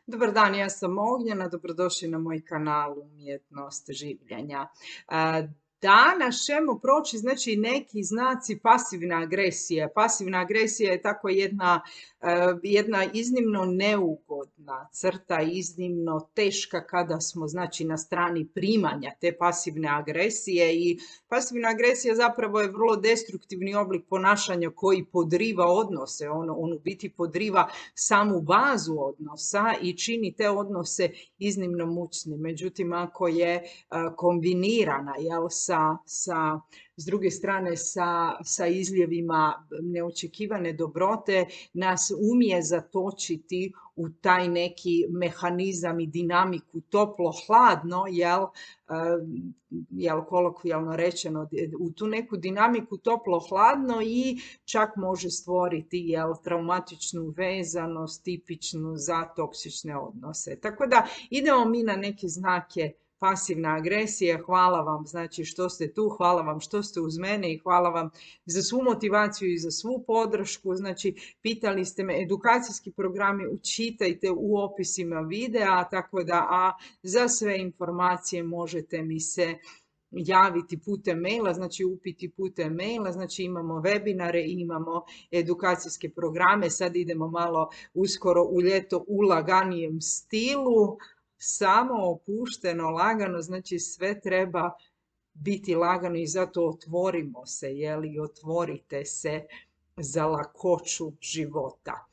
Dobar dan, ja sam Ognjena, dobrodošli na moj kanal Umjetnost življenja. Danas ćemo proći znači neki znaci pasivne agresije. Pasivna agresija je tako jedna iznimno neugodna crta, iznimno teška kada smo znači na strani primanja te pasivne agresije i pasivna agresija zapravo je vrlo destruktivni oblik ponašanja koji podriva odnose, on u biti podriva samu bazu odnosa i čini te odnose iznimno mučnim. Međutim, ako je kombinirana s druge strane sa izljevima neočekivane dobrote, nas umije zatočiti u taj neki mehanizam i dinamiku toplo-hladno, kolokvijalno rečeno, u tu neku dinamiku toplo-hladno i čak može stvoriti traumatičnu vezanost tipičnu za toksične odnose. Tako da idemo mi na neke znake pasivna agresija. Hvala vam znači što ste tu, hvala vam što ste uz mene i hvala vam za svu motivaciju i za svu podršku. Znači, pitali ste me, edukacijski programi učitajte u opisima videa, tako da za sve informacije možete mi se javiti putem maila, znači upiti putem maila, znači imamo webinare, imamo edukacijske programe, sad idemo malo uskoro u ljeto u laganijem stilu, samo opušteno, lagano, znači sve treba biti lagano i zato otvorimo se, otvorite se za lakoću života.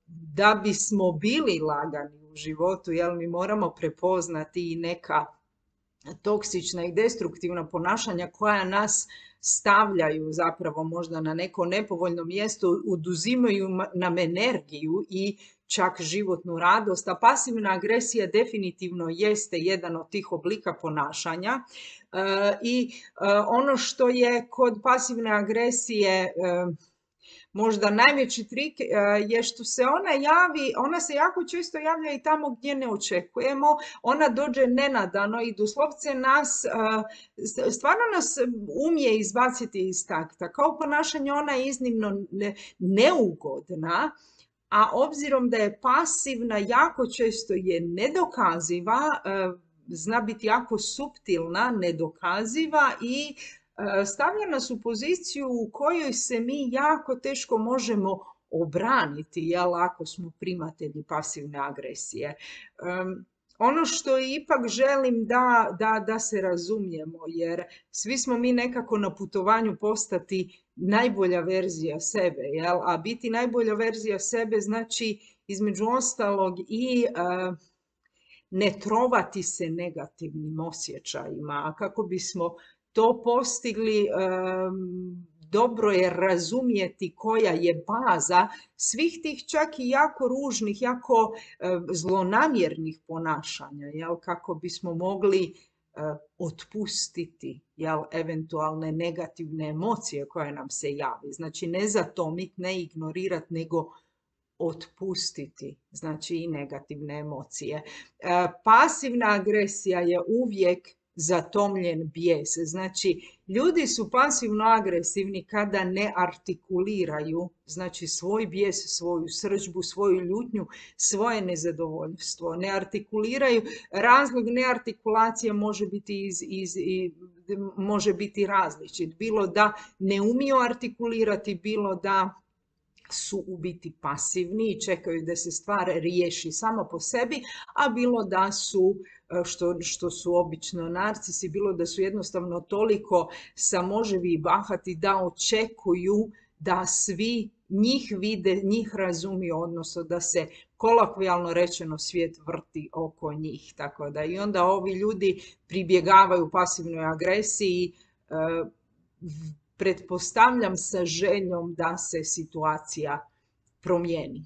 Da bismo bili lagani u životu, mi moramo prepoznati i neka toksična i destruktivna ponašanja koja nas stavljaju zapravo možda na neko nepovoljno mjesto, oduzimaju nam energiju i čak životnu radost, a pasivna agresija definitivno jeste jedan od tih oblika ponašanja. Ono što je kod pasivne agresije možda najveći trik je što se ona se jako često javlja i tamo gdje ne očekujemo, ona dođe nenadano i doslovce stvarno nas umije izbaciti iz takta. Kao ponašanje ona je iznimno neugodna, a obzirom da je pasivna, jako često je nedokaziva, zna biti jako suptilna, nedokaziva i stavlja nas u poziciju u kojoj se mi jako teško možemo obraniti, ako smo primatelji pasivne agresije. Ono što ipak želim da se razumijemo, jer svi smo mi nekako na putovanju postati najbolja verzija sebe, a biti najbolja verzija sebe znači između ostalog i ne trovati se negativnim osjećajima, a kako bismo to postigli, dobro je razumjeti koja je baza svih tih čak i jako ružnih, jako zlonamjernih ponašanja, kako bismo mogli otpustiti eventualne negativne emocije koje nam se javi. Znači ne zatomiti, ne ignorirati, nego otpustiti, znači i negativne emocije. Pasivna agresija je uvijek zatomljen bijes. Znači, ljudi su pasivno agresivni kada ne artikuliraju, znači svoj bijes, svoju srdžbu, svoju ljutnju, svoje nezadovoljstvo. Ne artikuliraju, razlog neartikulacije može biti različit. Bilo da ne umiju artikulirati, bilo da su u biti pasivni i čekaju da se stvar riješi samo po sebi, a bilo da su, što su obično narcisi, bilo da su jednostavno toliko samoživi i bahati da očekuju da svi njih vide, njih razumiju, odnosno da se kolokvijalno rečeno svijet vrti oko njih. Tako da i onda ovi ljudi pribjegavaju pasivnoj agresiji, pretpostavljam sa željom da se situacija promijeni.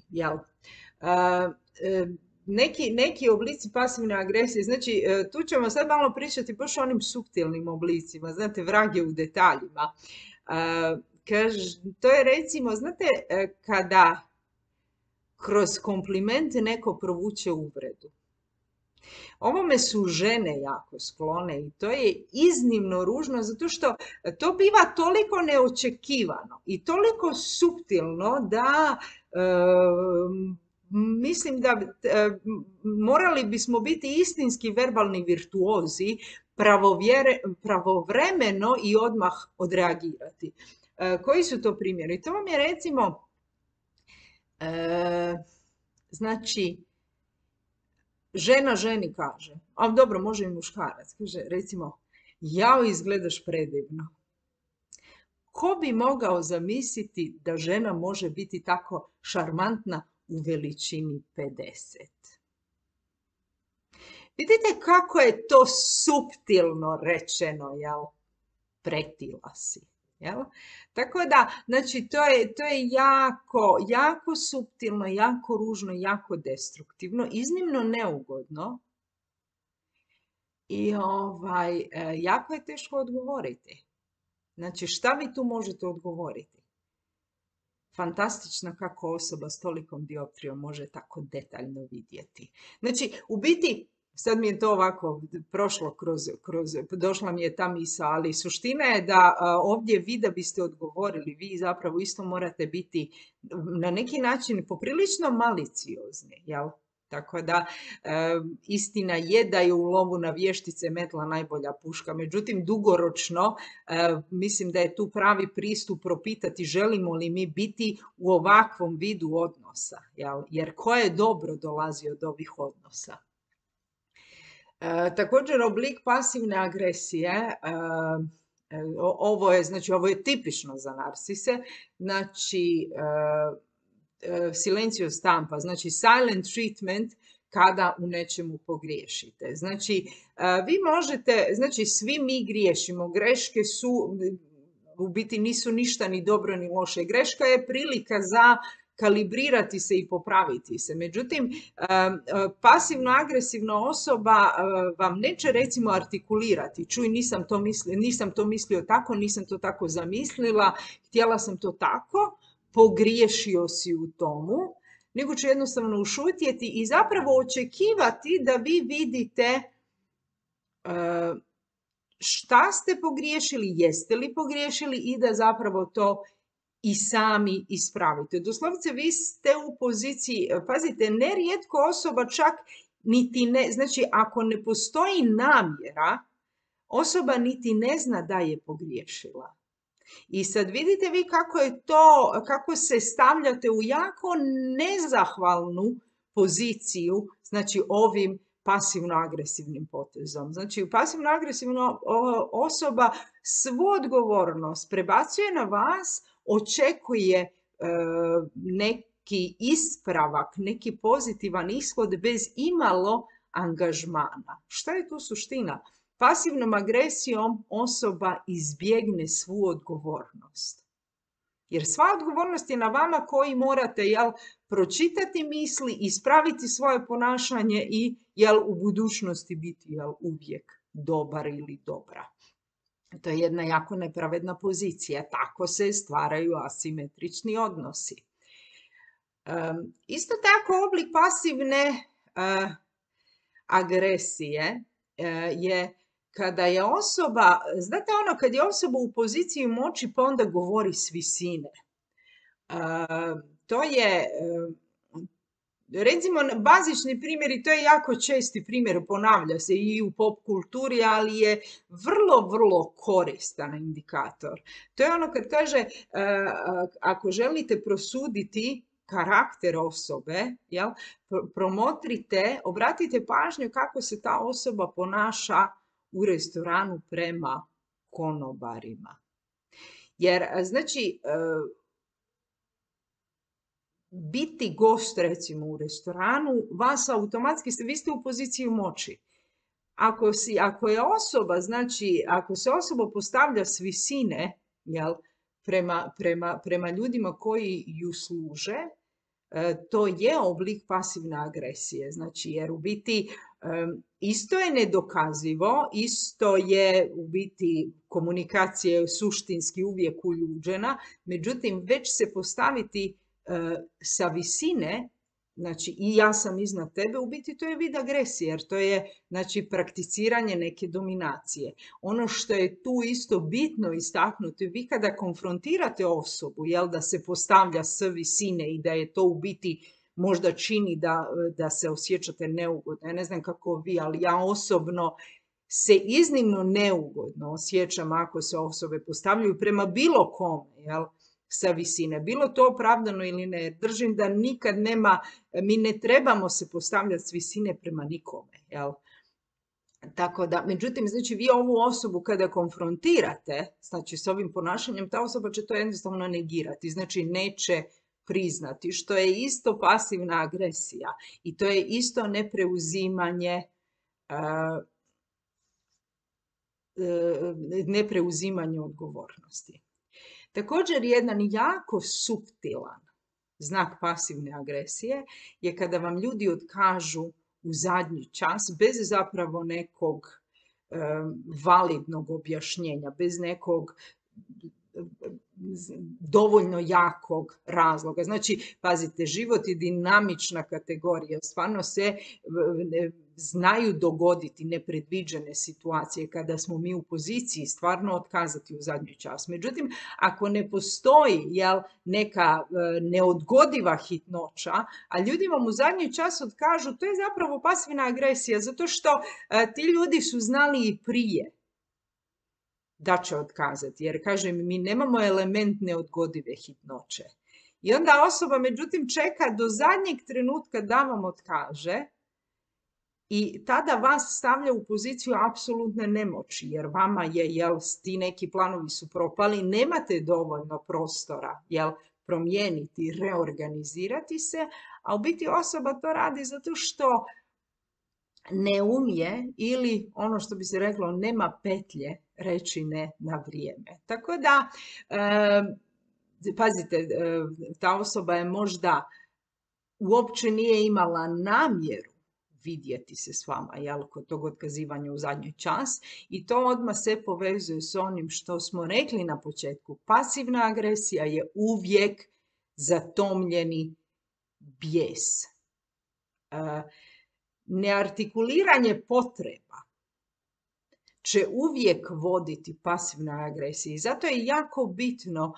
Neki oblici pasivne agresije, znači tu ćemo sad malo pričati baš o onim suptilnim oblicima, znate, vrag je u detaljima. To je recimo, znate, kada kroz komplimente neko provuče uvredu. Ovome su žene jako sklone i to je iznimno ružno zato što to biva toliko neočekivano i toliko suptilno da mislim da morali bismo biti istinski verbalni virtuozi, pravovremeno i odmah odreagirati. Koji su to primjeri? To vam je recimo, znači, žena ženi kaže, a dobro, može i muškarac, kaže recimo, jao, izgledaš predivno. Ko bi mogao zamisliti da žena može biti tako šarmantna u veličini 50? Vidite kako je to suptilno rečeno, jel? Pretila si. Jel? Tako da, znači, to je jako suptilno, jako ružno, jako destruktivno, iznimno neugodno i jako je teško odgovoriti. Znači, šta vi tu možete odgovoriti? Fantastično kako osoba s tolikom dioptrijom može tako detaljno vidjeti. Znači, u biti, sad mi je to ovako prošlo došla mi je ta misao, ali suština je da ovdje vi da biste odgovorili, vi zapravo isto morate biti na neki način poprilično maliciozni, jel? Tako da, istina je da je u lovu na vještice metla najbolja puška. Međutim, dugoročno, mislim da je tu pravi pristup propitati želimo li mi biti u ovakvom vidu odnosa. Jel? Jer koje dobro dolazi od ovih odnosa. Također, oblik pasivne agresije, ovo je tipično za narsise, znači, silencio stampa, znači silent treatment kada u nečemu pogriješite. Znači, vi možete, znači svi mi griješimo, greške su, u biti nisu ništa ni dobro ni loše. Greška je prilika za kalibrirati se i popraviti se. Međutim, pasivno-agresivna osoba vam neće recimo artikulirati. Čuj, nisam to mislio tako, nisam to tako zamislila, htjela sam to tako, pogriješio si u tomu, nego će jednostavno ušutjeti i zapravo očekivati da vi vidite šta ste pogriješili, jeste li pogriješili i da zapravo to i sami ispravite. Doslovce vi ste u poziciji, pazite, nerijetko osoba čak niti ne, znači ako ne postoji namjera, osoba niti ne zna da je pogriješila. I sad vidite vi kako se stavljate u jako nezahvalnu poziciju, znači ovim pasivno-agresivnim potezom. Znači, pasivno-agresivna osoba svu odgovornost prebacuje na vas, očekuje neki ispravak, neki pozitivan ishod bez imalo angažmana. Šta je tu suština? Pasivnom agresijom osoba izbjegne svu odgovornost. Jer sva odgovornost je na vama koji morate pročitati misli, ispraviti svoje ponašanje i u budućnosti biti uvijek dobar ili dobra. To je jedna jako nepravedna pozicija. Tako se stvaraju asimetrični odnosi. Isto tako oblik pasivne agresije je kada je osoba, znate kad je osoba u poziciji moći pa onda govori s visine. To je, recimo, bazični primjer i to je jako česti primjer, ponavlja se i u pop kulturi, ali je vrlo, vrlo koristan indikator. To je ono kad kaže, ako želite prosuditi karakter osobe, promotrite, obratite pažnju kako se ta osoba ponaša u restoranu prema konobarima. Jer, znači, biti gost, recimo, u restoranu, vas automatski, vi ste u poziciji moći. Ako je osoba, znači, ako se osoba postavlja s visine, prema ljudima koji ju služe, to je oblik pasivne agresije. Znači, jer u biti isto je nedokazivo, isto je u biti komunikacija suštinski uvijek uljuđena, međutim, već se postaviti sa visine, znači i ja sam iznad tebe, u biti to je vid agresije, jer to je, znači, prakticiranje neke dominacije. Ono što je tu isto bitno istaknuti, vi kada konfrontirate osobu, da se postavlja s visine i da je to u biti možda čini da se osjećate neugodno. Ja ne znam kako vi, ali ja osobno se iznimno neugodno osjećam ako se osobe postavljaju prema bilo kome, jel, sa visine. Bilo to opravdano ili ne. Držim da nikad nema, mi ne trebamo se postavljati s visine prema nikome, jel. Tako da, međutim, znači vi ovu osobu kada konfrontirate, znači s ovim ponašanjem, ta osoba će to jednostavno negirati, znači neće priznati, što je isto pasivna agresija i to je isto nepreuzimanje odgovornosti. Također, jedan jako suptilan znak pasivne agresije je kada vam ljudi otkažu u zadnji čas bez zapravo nekog validnog objašnjenja, bez nekog dovoljno jakog razloga. Znači, pazite, život je dinamična kategorija. Stvarno se znaju dogoditi nepredviđene situacije kada smo mi u poziciji stvarno otkazati u zadnji čas. Međutim, ako ne postoji neka neodgodiva hitnoća, a ljudi vam u zadnji čas otkažu, to je zapravo pasivna agresija, zato što ti ljudi su znali i prije da će otkazati, jer kažem, mi nemamo element neodgodive hitnoće. I onda osoba, međutim, čeka do zadnjeg trenutka da vam otkaže i tada vas stavlja u poziciju apsolutne nemoći, jer vama je, ti neki planovi su propali, nemate dovoljno prostora, promijeniti, reorganizirati se, a u biti osoba to radi zato što ne umije ili ono što bi se reklo nema petlje reći ne na vrijeme. Tako da, pazite, ta osoba je možda uopće nije imala namjeru vidjeti se s vama, kod tog otkazivanja u zadnji čas, i to odmah se povezuje s onim što smo rekli na početku. Pasivna agresija je uvijek zatomljeni bijes. Neartikuliranje potreba će uvijek voditi pasivnoj agresiji. Zato je jako bitno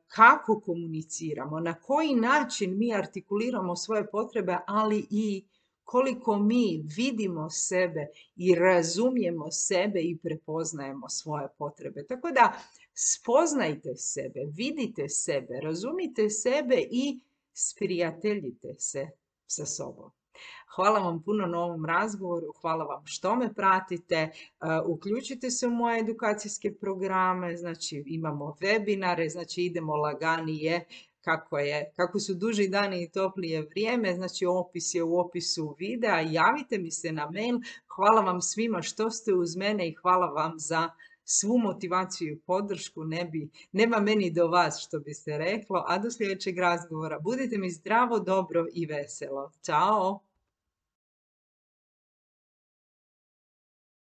kako komuniciramo, na koji način mi artikuliramo svoje potrebe, ali i koliko mi vidimo sebe i razumijemo sebe i prepoznajemo svoje potrebe. Tako da spoznajte sebe, vidite sebe, razumite sebe i sprijateljite se sa sobom. Hvala vam puno na ovom razgovoru, hvala vam što me pratite, uključite se u moje edukacijske programe, znači imamo webinare, znači idemo laganije, kako su duži dani i toplije vrijeme, znači opis je u opisu videa, javite mi se na mail, hvala vam svima što ste uz mene i hvala vam za svu motivaciju i podršku, nema meni do vas što bi se reklo, a do sljedećeg razgovora budite mi zdravo, dobro i veselo. Ćao!